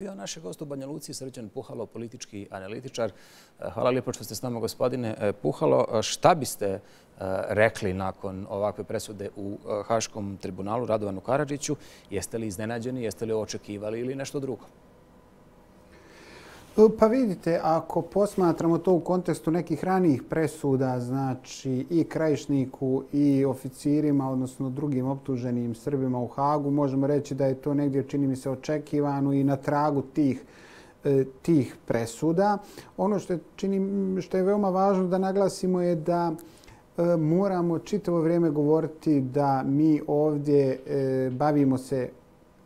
Bio naš gost u Banja Luci, Srđan Puhalo, politički analitičar. Hvala lijepo što ste s nama, gospodine Puhalo. Šta biste rekli nakon ovakve presude u Haškom tribunalu Radovanu Karadžiću? Jeste li iznenađeni, jeste li očekivali ili nešto drugo? Pa vidite, ako posmatramo to u kontekstu nekih ranijih presuda, znači i Krajišniku i oficirima, odnosno drugim optuženim Srbima u Hagu, možemo reći da je to negdje, čini mi se, očekivano i na tragu tih presuda. Ono što je veoma važno da naglasimo je da moramo čitavo vrijeme govoriti da mi ovdje bavimo se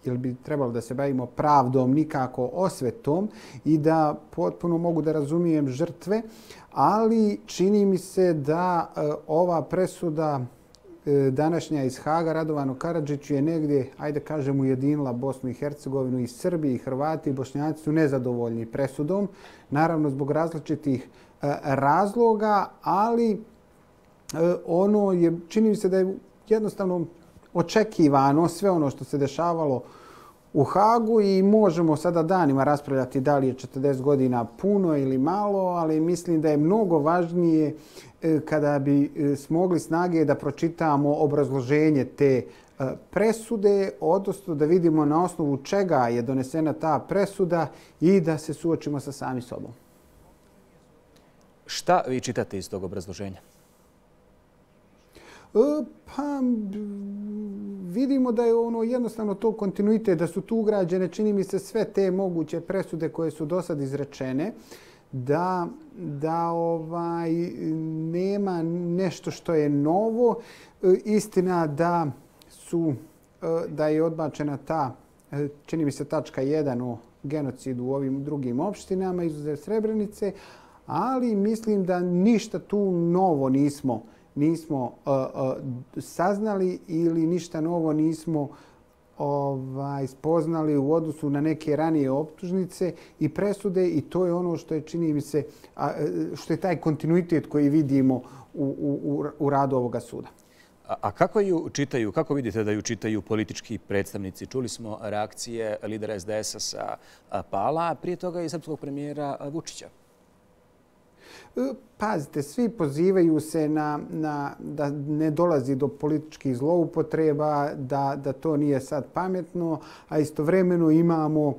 ili bi trebalo da se bavimo pravdom, nikako osvetom, i da potpuno mogu da razumijem žrtve, ali čini mi se da ova presuda današnja iz Haga Radovanu Karadžiću je negdje, ajde kažem, ujedinila Bosnu i Hercegovinu, i Srbi, i Hrvati, i Bošnjaci su nezadovoljni presudom, naravno zbog različitih razloga, ali ono je, čini mi se da je jednostavno očekivano sve ono što se dešavalo u Hagu i možemo sada danima raspravljati da li je 40 godina puno ili malo, ali mislim da je mnogo važnije kada bi smogli snage da pročitamo obrazloženje te presude, odnosno da vidimo na osnovu čega je donesena ta presuda i da se suočimo sa sami sobom. Šta vi čitate iz tog obrazloženja? Pa vidimo da je ono jednostavno to kontinuitet, da su tu ugrađene, čini mi se, sve te moguće presude koje su do sad izrečene, da nema nešto što je novo. Istina da je odbačena ta, čini mi se, tačka 1 o genocidu u ovim drugim opštinama, izuzev Srebrenice, ali mislim da ništa tu novo nismo saznali ili ništa novo nismo spoznali u odnosu na neke ranije optužnice i presude, i to je ono što je, čini mi se, što je taj kontinuitet koji vidimo u radu ovoga suda. A kako ju čitaju, kako vidite da ju čitaju politički predstavnici? Čuli smo reakcije lidera SDS-a sa Pala, a prije toga i srpskog premijera Vučića. Pazite, svi pozivaju se da ne dolazi do političkih zloupotreba, da to nije sad pametno, a istovremeno imamo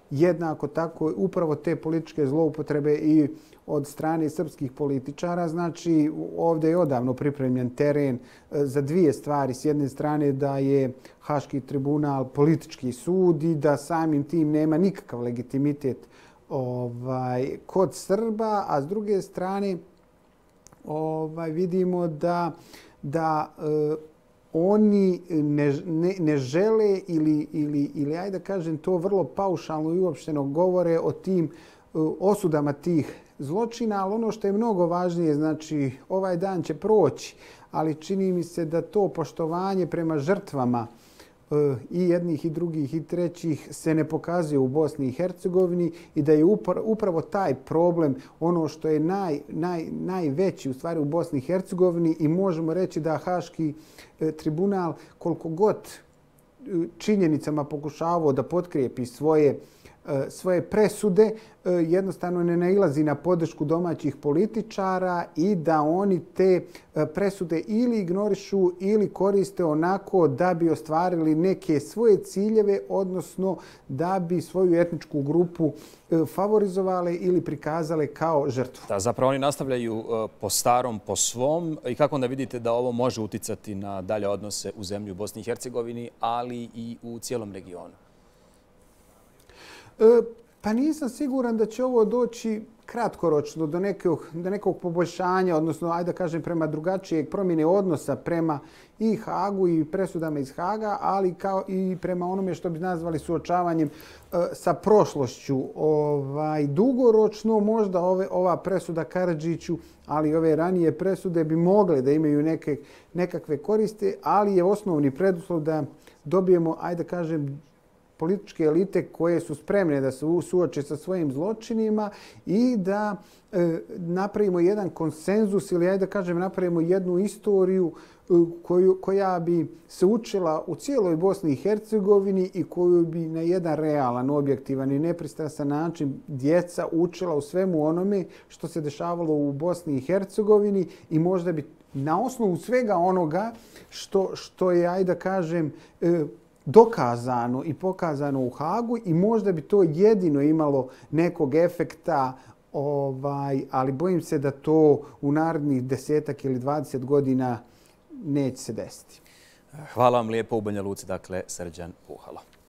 jednako tako upravo te političke zloupotrebe i od strane srpskih političara. Znači, ovdje je odavno pripremljen teren za dvije stvari. S jedne strane da je Haški tribunal politički sud i da samim tim nema nikakav legitimitet kod Srba, a s druge strane vidimo da oni ne žele ili ajde da kažem to vrlo paušalno i uopšteno govore o tim osudama tih zločina, ali ono što je mnogo važnije, znači ovaj dan će proći, ali čini mi se da to poštovanje prema žrtvama i jednih i drugih i trećih se ne pokazuje u Bosni i Hercegovini i da je upravo taj problem ono što je najveći u stvari u Bosni i Hercegovini, i možemo reći da Haški tribunal koliko god činjenicama pokušavao da potkrijepi svoje presude, jednostavno ne nailazi na podršku domaćih političara i da oni te presude ili ignorišu ili koriste onako da bi ostvarili neke svoje ciljeve, odnosno da bi svoju etničku grupu favorizovali ili prikazali kao žrtvu. Da, zapravo oni nastavljaju po starom, po svom. I kako onda vidite da ovo može uticati na dalje odnose u zemlji u Bosni i Hercegovini, ali i u cijelom regionu? Pa nisam siguran da će ovo doći kratkoročno do nekog poboljšanja, odnosno, ajde da kažem, prema drugačijeg promjene odnosa prema i Hagu i presudama iz Haga, ali kao i prema onome što bi nazvali suočavanjem sa prošlošću. Dugoročno možda ova presuda Karadžiću, ali i ove ranije presude bi mogle da imaju nekakve koriste, ali je osnovni preduslov da dobijemo, ajde da kažem, političke elite koje su spremne da se suoče sa svojim zločinima i da napravimo jedan konsenzus ili, ajde da kažem, napravimo jednu istoriju koja bi se učila u cijeloj Bosni i Hercegovini i koju bi na jedan realan, objektivan i nepristrasan način djeca učila u svemu onome što se dešavalo u Bosni i Hercegovini i možda bi na osnovu svega onoga što je, ajde da kažem, dokazano i pokazano u Hagu i možda bi to jedino imalo nekog efekta, ali bojim se da to u narednih 10 ili 20 godina neće se desiti. Hvala vam lijepo. U Banja Luci, dakle, Srđan Puhalo.